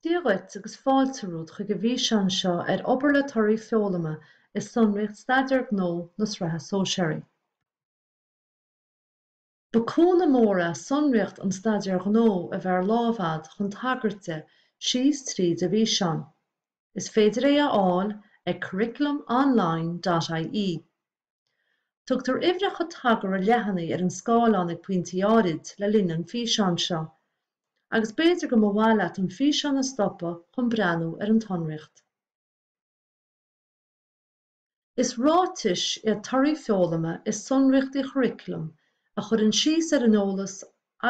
Dia dhuit agus fáilte romhat chuig an bhfíseán seo ar obair le torthaí foghlama i sonraíocht Staidéar Gnó na Sraithe Sóisearaí. Ba cúnamh mór é sonraíocht an Staidéir Ghnó a bheith ar láimh a'd chun tagairt di síos tríd an bhfíseán. Is féidir é a fháil ag curriculumonline dot ie. Tugtar uimhreacha tagartha leathanaigh ar an scáileán ag pointí áirid le linn an fhíseáin seo, agus b'fhéidir go mba mhaith leat an físeán a stopadh chun breathnú ar an tsonraíocht. Is ráitis iad torthaí foghlama i sonraíochtaí churaclaim a chuireann síos ar an eolas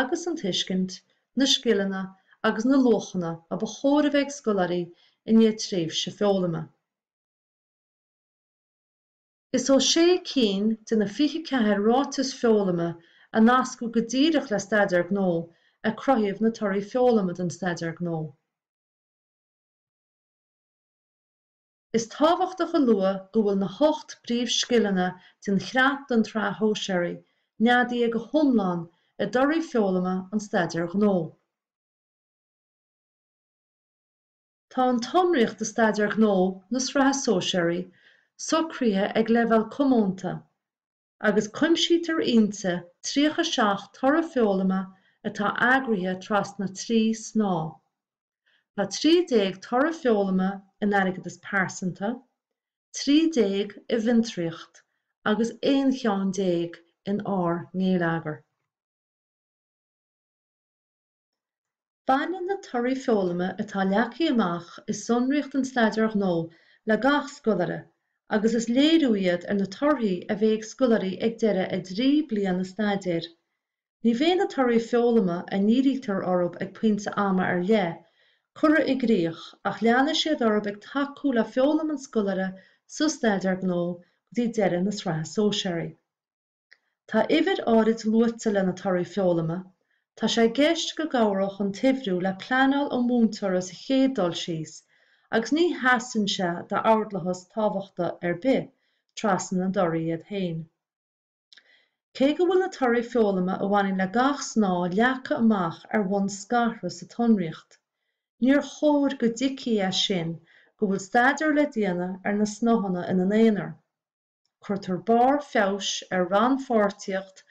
agus an tuiscint, na scileanna agus na luachanna a ba chóir a bheith ag scoláirí i ndiaidh tréimhse foghlama. Is ó sé cinn de na 24 ráiteas foghlama a nascadh go díreach le Staidéar Gnó a cruthaíodh na torthaí foghlama don Staidéar Gnó. Is tábhachtach a lua go bhfuil na hocht bpríomhscileanna den Chreat don tSraith Shóisearaigh neadaithe go hiomlán i dtorthaí foghlama an Staidéir Ghnó. Tá an tsonraíocht do Staidéar Gnó na Sraithe Sóisearaí socraithe ag leibhéal comónta agus cuimsítear inti 37 toradh foghlama atá eagraithe trasna 3 snáth. Tá 13 toradh foghlama in Airgeadas Pearsanta, 13 i bhFiontraíocht agus 11 cheann in Ár nGeilleagar. Baineann na torthaí foghlama atá leagtha amach i sonraíocht an Staidéir Ghnó le gach scoláire agus is léiriú iad ar na torthaí a bheidh ag scoláirí ag deireadh a dtrí bliana staidéir. Ní bheidh na torthaí foghlama a ndírítear orthu ag pointe ama ar leith curtha i gcrích ach leanfaidh siad orthu ag tacú le foghlaim an scoláire sa Staidéar Gnó go dtí deireadh na Sraithe Sóisearaí. Tá uimhir áirid luaite le na torthaí foghlama, tá sé i gceist go gcabhródh an t-uimhriú le pleanáil an mhúinteora sa chéad dul síos agus ní sheasann sé d'ordlathas tábhachta ar bith trasna na dtorthaí iad féin. Cé go bhfuil na torthaí foghlama a bhaineann le gach snáth leagtha amach ar bhonn scartha sa tsonraíocht, níor chóir go dtuigfí as sin go bhfuil staidéar le déanamh ar na snáitheanna ina n-aonar. Cuirtear barr feabhais ar rannpháirtíocht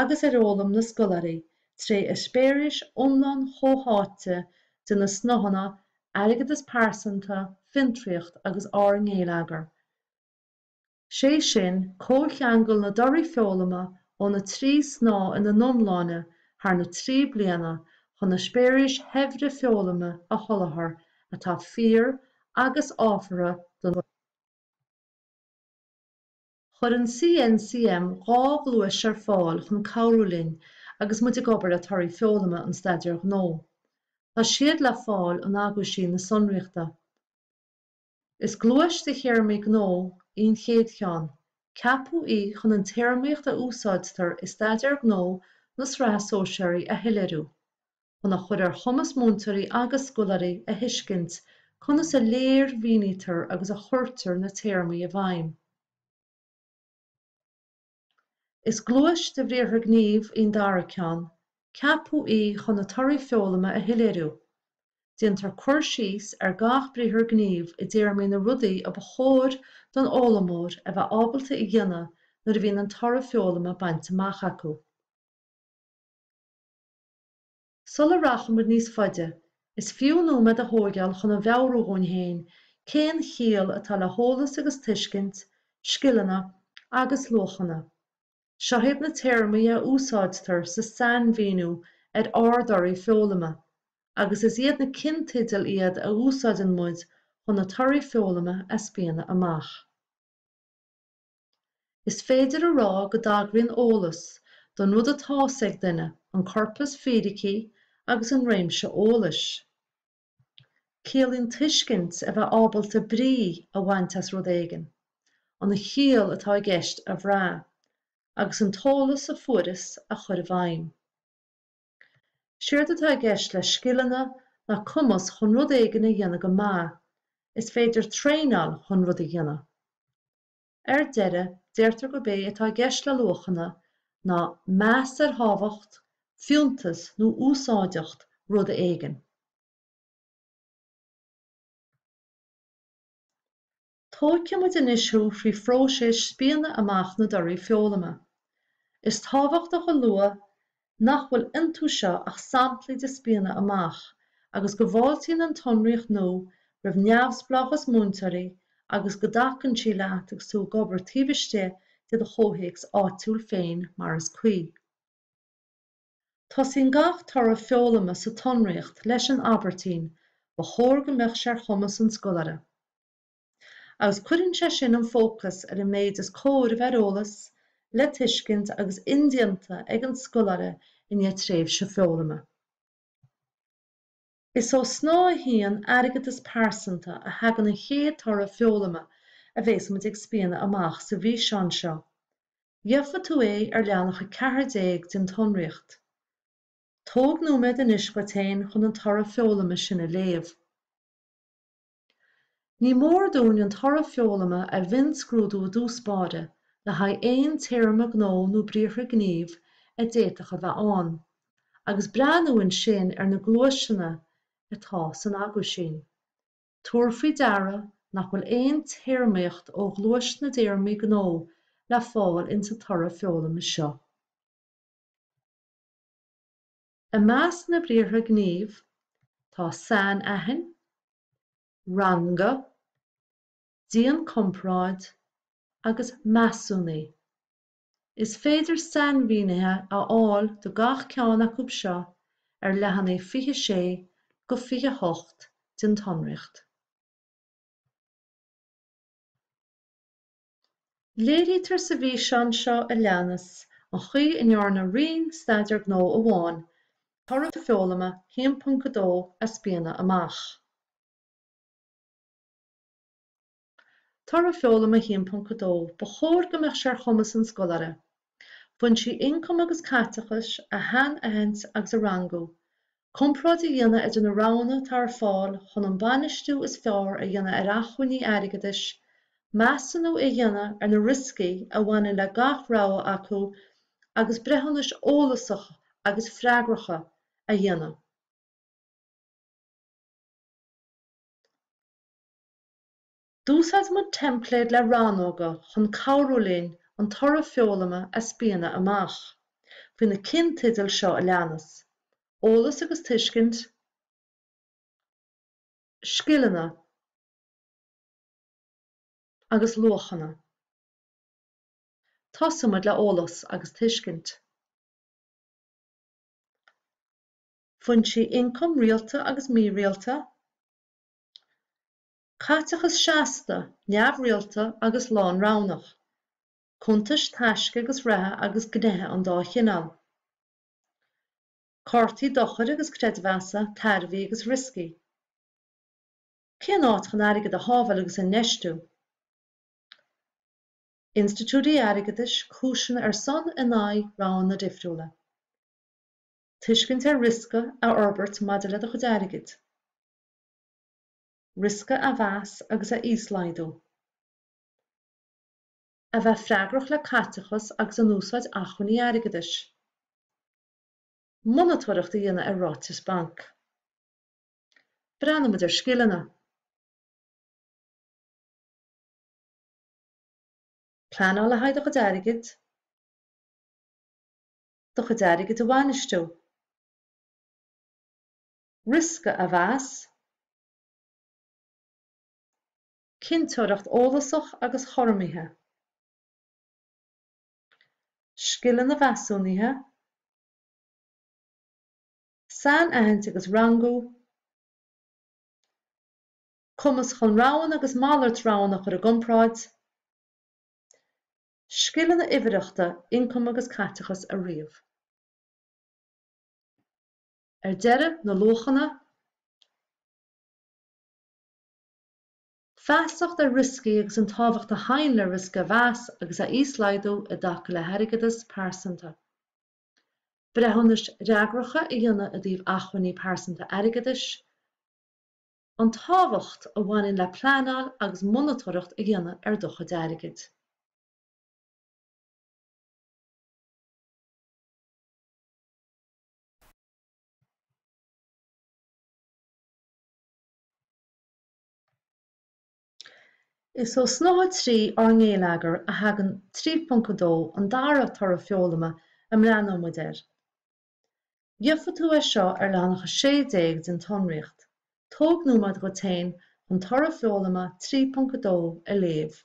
agus ar fhoghlaim na scoláirí tré eispéiris iomlán chomhtháite de na snáitheanna Airgeadas Pearsanta, Fiontraíocht agus Ár nGeilleagar, sé sin, comhcheangal na dtorthaí foghlama ó na trí snáth ina n-iomláine thar na trí bliana chun eispéiris shaibhre foghlama a sholáthar atá fíor agus ábhartha don. Chuir an CNCM 2 ghluais ar fáil chun cabhrú linn agus muid ag obair le torthaí foghlama an Staidéir Ghnó. Tá siad le fáil in aguisín na sonraíochta. Is gluais de théarmaí gnó í an chéad cheann. Ceapadh í chun an téarmaíocht a úsáidtear i Staidéar Gnó na Sraithe Sóisearaí a shoiléiriú. chun a chur ar chumas múinteoirí agus scoláirí a thuiscint conas a léirmhínítear agus a chuirtear na téarmaí i bhfeidhm. Is gluais de bhriathra gnímh í an dara ceann. Ceapadh í chun na torthaí foghlama a shoiléiriú. Déantar cur síos ar gach briathar gnímh i dtéarmaí na rudaí a ba chóir don fhoghlaimeoir a bheith ábalta a dhéanamh nuair a bhíonn an toradh foghlama bainte amach acu. Sula rachaimid níos faide, is fiú nóiméad a thóigeáil chun a mheabhrú dhúinn féin cén chiall atá le heolas agus tuiscint, scileanna agus luachanna. Seo iad na téarmaí a úsáidtear sa sainmhíniú ar ár dtorthaí foghlama, agus is iad na cinnteidil iad a úsáideann muid chun na torthaí foghlama a spíonadh amach. Is féidir a rá go dtagraíonn eolas don rud atá's ag duine, an corpas fíricí agus an réimse eolais. Ciallaíonn tuiscint a bheith ábalta brí a bhaint as rud éigin, an chiall atá i gceist a bhrath, agus an t-eolas a fuaireas a chur i bhfeidhm. Séard atá i gceist le scileanna ná cumas chun rud éigin a dhéanamh go maith, is féidir traenáil chun rud a dhéanamh. Ar deireadh, deirtear gurb é atá i gceist le luachanna ná meas ar thábhacht, fiúntas nó úsáideacht ruda éigin. Tógfaidh muid anois thú thrí phróiseas spíonadh amach na dtorthaí foghlama. Is tábhachtach a lua nach bhfuil iontu seo ach samplaí de spíonadh amach agus go bhfáiltíonn an tsonraíocht nua roimh neamhspleáchas múinteoirí agus go dtacaíonn sí leat agus tú ag obair taobh istigh de do chomhthéacs áitiúil féin mar is cuí. Tosaíonn gach toradh foghlama sa tsonraíocht leis an abairtín 'Ba chóir go mbeadh sé ar chumas an scoláire'. Agus cuireann sé sin an fócas ar an méid is cóir a bheith ar eolas, le tuiscint agus indéanta ag an scoláire i ndiaidh tréimhse foghlama. Is ó Shnáithe 1, Airgeadas Pearsanta, a thagann an chéad toradh foghlama a bhéas muid ag spíonadh amach sa bhfíseán seo. Gheofa tú é ar leathanach 14 den tsonraíocht. Tóg nóiméad anois dhuit féin chun an toradh foghlama sin a léamh. Ní mór dúinn an toradh foghlama a mhionscrúdú i dtús báire le haghaidh aon téarma gnó nó briathra gnímh a d'fhéadfadh a bheith ann, agus breathnú ansin ar na gluaiseanna atá san aguisín. Tabhair faoi deara nach bhfuil aon téarmaíocht ó ghluais na dtéarmaí gnó le fáil insa toradh foghlama seo. I measc na briathra gnímh tá sainaithin, rangaigh, déan comparáid agus measúnaigh. Is féidir sainmhínithe a fháil do gach ceann acu seo ar leathanaigh 26 go 28 den tsonraíocht. Léirítear sa bhfíseán seo a leanas an chaoi a ndearna Roinn Staidéar Gnó amháin toradh foghlama 1.2 a spíonadh amach. Toradh foghlama 1.2 Ba chóir go mbeadh sé ar chumas an scoláire, Foinsí ioncaim agus caiteachais a shainaithint agus a rangú, Comparáid a dhéanamh idir na roghanna atá ar fáil chun an bainistiú is fearr a dhéanamh ar acmhainní airgeadais, measúnú a dhéanamh ar na rioscaí a bhaineann le gach rogha acu agus breithiúnais eolasacha agus freagracha a dhéanamh. D'úsáid muid teimpléad le rannóga chun cabhrú linn an toradh foghlama a spíonadh amach, faoi na cinnteidil seo a leanas, Eolas agus Tuiscint, Scileanna agus Luachanna. Tosóidh muid le Eolas agus Tuiscint. Foinsí ioncaim rialta agus mírialta. Caiteachas seasta, neamhrialta agus lánroghnach. Cuntais taisce agus reatha agus gnéithe an dá chineál. Cártaí dochair agus creidmheasa, tairbhí agus rioscaí. Cén áit chun airgead a shábháil agus a infheistiú? Institiúidí airgeadais, cúiseanna ar son, in aghaidh, roghanna difriúla. Tuiscint ar riosca a fhorbairt maidir le do chuid airgid. Riosca a mheas agus a íoslaghdú. A bheith freagrach le caiteachas agus in úsáid acmhainní airgeadais. Monatóireacht a dhéanamh ar ráitis bainc. Breathnóidh muid ar scileanna. Pleanáil le haghaidh do chuid airgid. Do chuid airgid a bhainistiú. Riosca a mheas. Cinnteoireacht eolasach agus chothromaithe. Scileanna measúnaithe. Sainaithint agus rangú. Cumas chun roghanna agus malairt roghanna a chur i gcomparáid. Scileanna uimhearthachta, ioncam agus caiteachas a ríomh. Ar deireadh, na luachanna. Feasacht ar rioscaí agus an tábhacht a thagann le riosca a mheas agus a íoslaghdú i dtaca le hairgeadas pearsanta. Breithiúnais fhreagracha a dhéanamh i dtaobh acmhainní pearsanta airgeadais. An tábhacht a bhaineann le pleanáil agus monatóireacht a dhéanamh ar do chuid airgid. Is ó Shnáithe 3 Ár nGeilleagar a thagann 3.2 an dara toradh foghlama a mbreathnóidh muid air. Gheofaidh tú é seo ar leathanach 16 den tsonraíocht. Tóg nóiméad dhuit féin chun toradh foghlama 3.2 a léamh.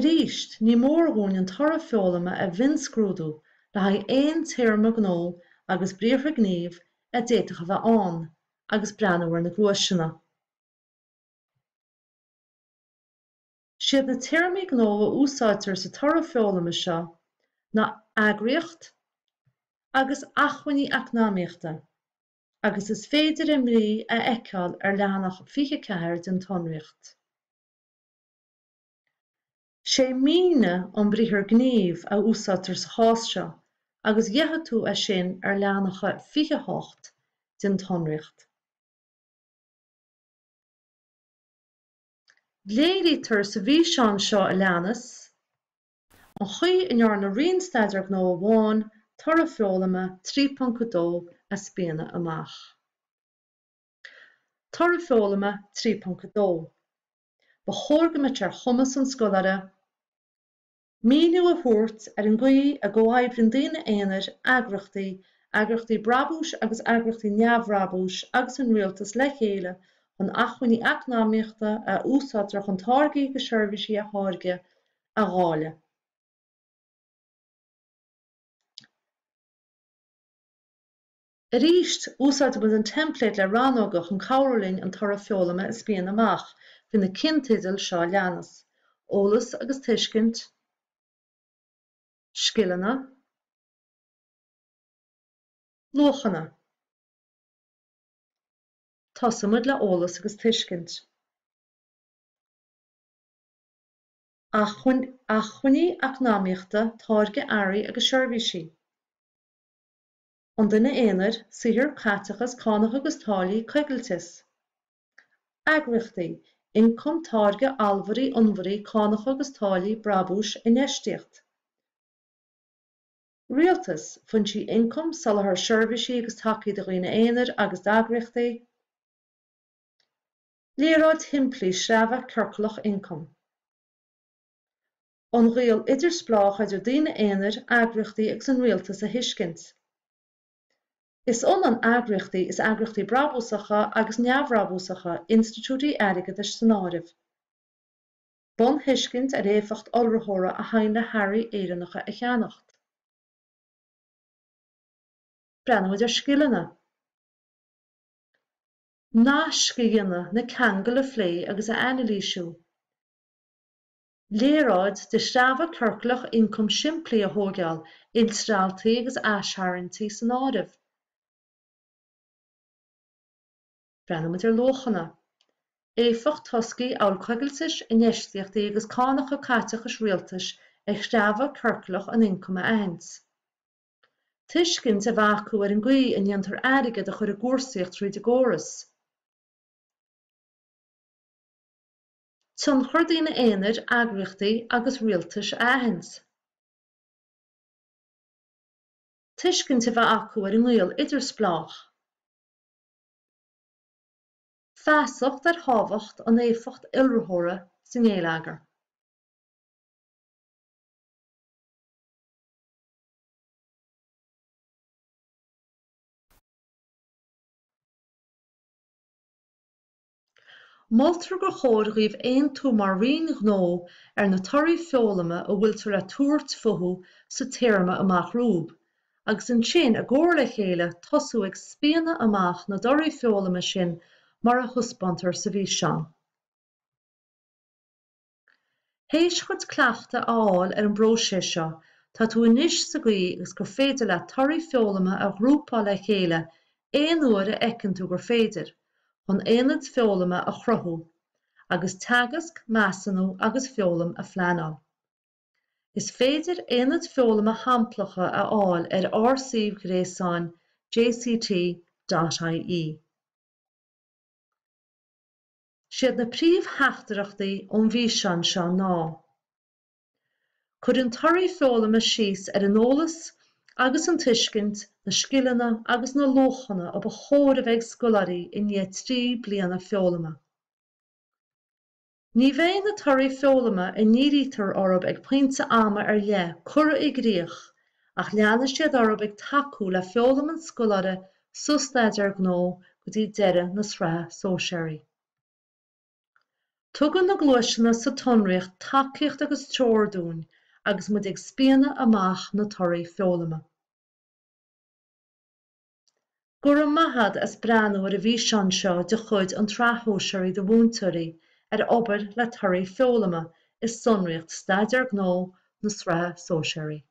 Arís, ní mór dhúinn an toradh foghlama a mhionscrúdú le haghaidh aon téarma gnó agus briathra gnímh a d'fhéadfadh a bheith ann agus breathnú ar na gluaiseanna. Siad na téarmaí gnó a úsáidtear sa toradh foghlama seo ná eagraíocht agus acmhainní eacnamaíochta agus is féidir a mbrí a fheiceáil ar leathanach 24 den tsonraíocht. Sé mínigh an briathar gnímh a úsáidtear sa chás seo agus gheofaidh tú é sin ar leathanach 28 den tsonraíocht. Léirítear sa bhfíseán seo a leanas an chaoi a ndearna Roinn Staidéar Gnó amháin toradh foghlama 3.2 a spíonadh amach. Toradh foghlama 3.2 Ba chóir go mbeadh sé ar chumas an scoláire. Míniú a thabhairt ar an gcaoi a gcomhoibríonn daoine aonair, eagraíochtaí, eagraíochtaí brabúis agus eagraíochtaí neamhbhrabúis agus an rialtas le chéile chun acmhainní eacnamaíochta a úsáidtear chun táirgí agus seirbhísí a tháirgeadh a dháileadh. Arís, úsáidfidh muid an teimpléad le rannóga chun cabhrú linn an toradh foghlama a spíonadh amach faoi na cinnteidil seo a leanas, Eolas agus Tuiscint, Scileanna, Luachanna. Tosóidh muid le Eolas agus Tuiscint. Acmhainní eacnamaíochta, táirgeadh earraí agus seirbhísí. An duine aonair, saothar, caiteachas, cánacha agus táillí, coigilteas. Eagraíochtaí, ioncam, táirgeadh, allmhairí, onnmhairí, cánacha agus táillí, brabúis, infheistíocht. Rialtas, foinsí ioncaim, soláthar seirbhísí agus tacaí do dhaoine aonair agus d'eagraíochtaí. Léaráid shimplí sreabhadh ciorclach ioncaim. An gaol idirspleách idir daoine aonair, eagraíochtaí agus an rialtas a thuiscint. Is ionann eagraíochtaí is eagraíochtaí brabúsacha agus neamhbhrabúsacha, institiúidí airgeadais san áireamh. Bunthuiscint ar éifeacht iolraitheora a thagann le hearraí Éireannacha a cheannacht. Breathnóimid ar scileanna. Naisc a dhéanamh, na ceangail a phlé agus a anailísiú. Léaráid de shreabhadh ciorclach ioncaim simplí a thógáil, iltrealltaí agus aistharraingtí san áireamh. Breathnóimid ar luachanna. Éifeacht toscaí amhail coigiltis, infheistíochtaí agus cánacha caiteachais rialtais ar shreabhadh ciorclach an ioncaim a aithint. Tuiscint a bheith acu ar an gcaoi a ndéantar airgead a chur i gcúrsaíocht tríd an gcóras. Tionchar daoine aonair, eagraíochtaí agus rialtais a aithint. Tuiscint a bheith acu ar an ngaol idirspleách. Feasacht ar thábhacht an éifeacht iolraitheora sa ngeilleagar. Moltar gur chóir dhaoibh aontú mar roinn ghnó ar na torthaí foghlama a bhfuiltear le tabhairt fúthu sa téarma amach romhaibh, agus ansin i gcomhar le chéile tosú ag spíonadh amach na dtorthaí foghlama sin mar a thaispeántar sa bhfíseán. Théis chuid cleachtaidh a fháil ar an bpróiseas seo, tá tú anois sa gcaoi agus gur féidir leat torthaí foghlama a ghrúpáil le chéile aon uair a fheiceann tú gur féidir, chun aonaid foghlama a chruthú, agus teagasc, measúnú agus foghlaim a phleanáil. Is féidir aonaid foghlama shamplacha a fháil ar ár suíomh gréasáin jct.ie. Siad na príomhtheachtaireachtaí ón bhfíseán seo ná. Cuireann torthaí foghlama síos ar an eolas agus an tuiscint, na scileanna agus na luachanna a ba chóir a bheith ag scoláirí i ndiaidh 3 bliana foghlama. Ní bheidh na torthaí foghlama a ndírítear orthu ag pointe ama ar leith curtha i gcrích ach leanfaidh siad orthu ag tacú le foghlaim an scoláire sa Staidéar Gnó go dtí deireadh na Sraithe Sóisearaí. Tugann na gluaiseanna sa tsonraíocht tacaíocht agus treoir dúinn agus muid ag spíonadh amach na torthaí foghlama. Go raibh maith a't as breathnú ar an bhfíseán seo de chuid an tSraith Shóisearaigh do Mhúinteoirí ar obair le torthaí foghlama i sonraíocht Staidéar Gnó na Sraithe Sóisearaí.